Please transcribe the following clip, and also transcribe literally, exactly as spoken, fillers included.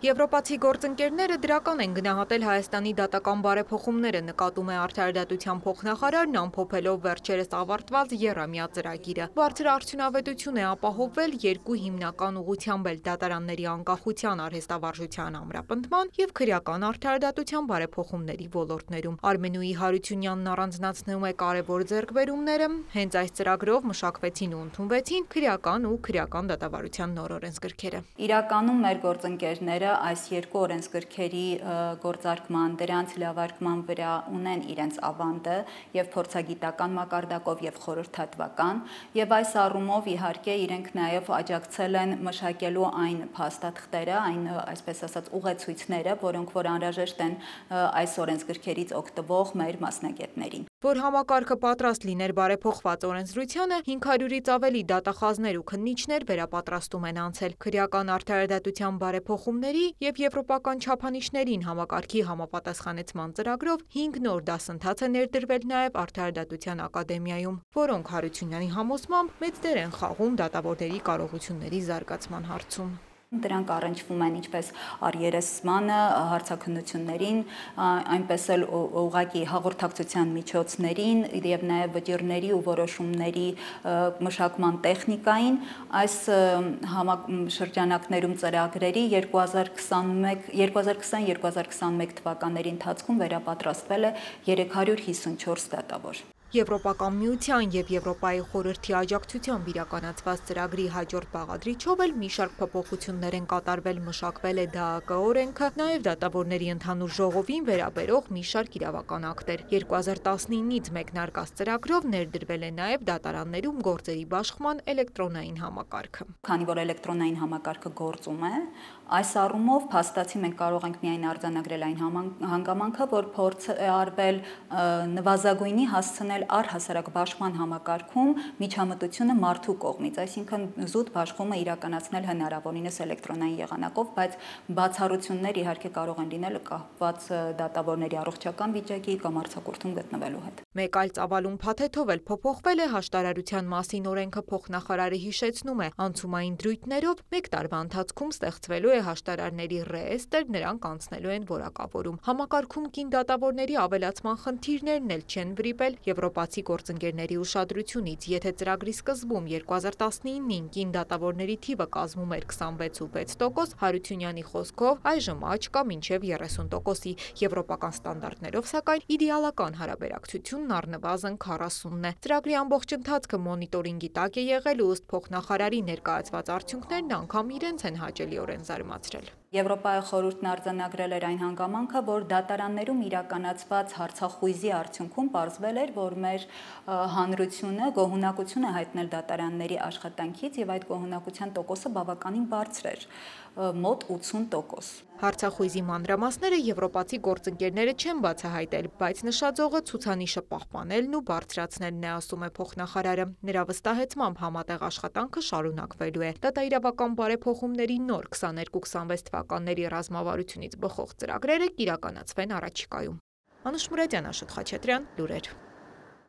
Եվրոպացի գործընկերները դրական են գնահատել Հայաստանի դատական բարեփոխումները, նկատում է արդարադատության փոխնախարարն, ամփոփելով վերջերս ավարտված եռամյա ծրագիրը։ Բարձր արդյունավետություն է ապահովվել երկու հիմնական ուղղությամբ էլ դատարանների անկախության, արհեստավարժության ամրապնդման եւ քրեական արդարադատության բարեփոխումների ոլորտներում։ Արմենուի Հարությունյանն առանձնացնում է կարևոր ձեռքբերումները։ Հենց այս ծրագրով մշակվեցին ու ընդունվեցին քրեական ու քրեական դատավարության նոր օրենսգրքերը։ Իրականում մեր գործընկերները այս երկու օրենսգրքերի գործարկման, դրանց լավարկման վրա ունեն իրենց ավանդը եւ փորձագիտական մակարդակով եւ խորհրդատվական եւ այս առումով իհարկե իրենք նաեւ աջակցել են մշակելու այն փաստաթղթերը, այն այսպես ասած ուղեցույցները, որոնք որ անհրաժեշտ են այս օրենսգրքերից օգտվող մեր մասնագետներին։ Որ համակարգը պատրաստ լիներ բարեփոխված օրենսդրությանը, հինգ հարյուրից ավելի դատախազներ ու քննիչներ վերապատրաստում են անցել քրեական արդարադատության բարեփոխումների եւ եվրոպական չափանիշներին համակարգի համապատասխանեցման ծրագրով հինգ նոր դասընթաց է ներդրվել նաեւ Արդարադատության ակադեմիայում, որոնք Հարությունյանի համոզմամբ մեծ դեր են խաղում դատավորների կարողությունների զարգացման հարցում։ Դրանք առնչվում են ինչպես առերեսմանը, հարցաքննություններին, այնպես էլ ուղղակի հաղորդակցության միջոցներին եւ նաեւ վճիռների ու որոշումների մշակման տեխնիկային։ Այս շրջանակներում ծրագրերի երկու հազար քսաներկու երկու հազար քսաներկու թվականների ընթացքում վերապատրաստվել է երեք հարյուր հիսունչորս դատավոր։ Եվրոպական միության եւ Եվրոպայի խորհրդի աջակցությամբ իրականացված ծրագրի հաջորդ բաղադրիչով էլ մի շարք փոփոխություններ են կատարվել, մշակվել է ԴԱԿ օրենքը, նաեւ դատավորների ընդհանուր ժողովին վերաբերող մի շարք իրավական ակտեր։ երկու հազար տասնինից մեկնարկած ծրագրով ներդրվել է նաեւ դատարաններում գործերի բաշխման էլեկտրոնային համակարգը։ Քանի որ էլեկտրոնային համակարգը գործում է, այս առումով փաստացի մենք կարող ենք միայն արձանագրել այն հանգամանքը, որ փորձ է արվել նվազագույնի հասցնել առհասարակ բաշխման համակարգում միջամտությունը մարդու կողմից, այսինքն զուտ բաշխումը իրականացնել հնարավորինս էլեկտրոնային եղանակով, բայց բացառություններ իհարկե կարող են լինել կապված դատավորների առողջական վիճակի կամ արձակուրդում գտնվելու հետ։ Մեկ այլ ծավալուն փաթեթով էլ փոփոխվել է հաշտարարության մասին օրենքը, փոխնախարարը հիշեցնում է, անցումային դրույթներով մեկ տարվա ընթացքում ստեղծվելու է հաշտարարների ռեեստր, նրանք անցնելու են որակավորում։ Համակարգում կին դատավորների ավելացման խնդիրներն էլ չեն վրիպել եվրոպացի գործընկերների ուշադրությունից, եթե ծրագրի սկզբում երկու հազար տասնինին կին դատավորների թիվը կազմում էր քսանվեց ու վեց տոկոս, Հարությունյանի խոսքով այժմ աճ կա մինչև երեսուն տոկոսի, եվրոպական ստանդարտներով սակայն իդեալական հարաբերակցությունն առնվազն քառասունն է։ Ծրագրի ամբողջ ընթացքը մոնիտորինգի տակ է եղել ու ըստ փոխնախարարի ներկայացված արդյունքներն անգամ իրենց են հաճելիորեն զարմացրել։ Եվրոպայի խորհուրդն արձանագրել էր այն հանգամանքը, որ դատարաններում իրականացված հարցախույզի արդյունքում պարզվել էր, որ մեր հանրությունը գոհունակություն է հայտնել դատարանների աշխատանքից եւ այդ գոհունակության տոկոսը բավականին բարձր էր, մոտ ութսուն տոկոս։ Հարցախույզի մանրամասները եվրոպացի գործընկերները չեն բացահայտել, բայց նշաձողը ցուցանիշը պահպանելն ու բարձրացնելն է, ասում է փոխնախարարը։ Նրա վստահեցմամբ համատեղ աշխատանքը շարունակվելու է։ Դատաիրավական բարեփոխումների նոր քսաներկու քսանվեց թվականների ռազմավարությունից բխող ծրագրերը կիրականացվեն առաջիկայում։ Անուշ Մուրադյան, Աշոտ Խաչատրյան, լուրեր։